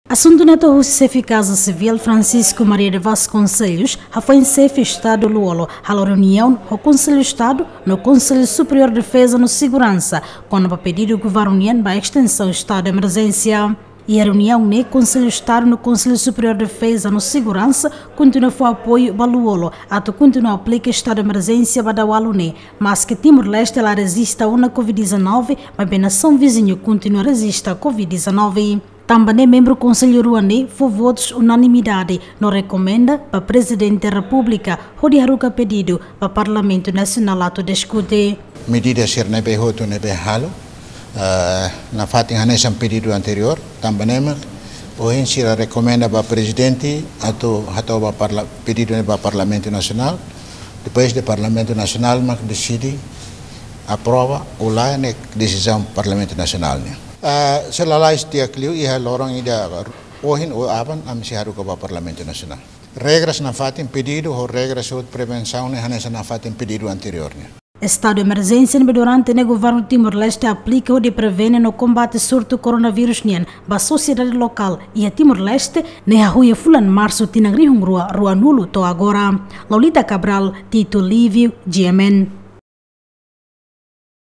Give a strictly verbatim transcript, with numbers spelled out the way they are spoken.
Asuntu ne'e to'o husi Xefe Kaza Sivíl Francisco Maria de Vasconcelos hafoin Xefe Estadu Lú-Olo halo reuniaun ho Konsellu Estadu no Konsellu Superiór Defeza no Seguransa kona-ba pedidu governu nian ba estensaun estadu de emerjénsia. Iha reuniaun ne'e Konsellu Estadu no Konsellu Superiór Defeza no Seguransa kontinua fó apoiu ba Lú-Olo atu kontinua aplika estadu de emerjénsia ba Dawala ne'e, maske Timor-Leste la rejista ona COVID-19, maibé nasaun viziñu kontinua rejista COVID-19. Tanba ne'e membru Konsellu rua ne'e fó votus unanimidade no rekomenda ba Prezidente Repúblika hodi haruka pedidu ba Parlamentu Nasionál atu diskute. Medida sira ne'ebé hotu ne'ebé halo, eh, nafatin hanesan pedidu anteriór, tanba ne'e mak ohin sira rekomenda ba Prezidente atu hato'o ba parla-, pedidu ne'e ba Parlamentu Nasionál, depois de Parlamentu Nasionál mak deside aprova ou lae, ne'e desizaun Parlamentu Nasionál nian. Ah, se lalais di'ak liu iha loron ida ohin ou aban ami sei haruka ba Parlamentu Nasionál. Regras nafatin pedidu ho regras hotu prevensaun ne'e hanesan nafatin pedidu anteriór nian. Estadu de emerjénsia ne'ebé durante ne'e governu Timor-Leste aplika hodi prevene no kombate surtu koronavírus nian ba sosiedade lokál iha Timor-Leste ne'e hahú iha fulan Marsu tinan rihun rua ruanulu to'o agora. Lolita Cabral, Tito Lívio, G M N.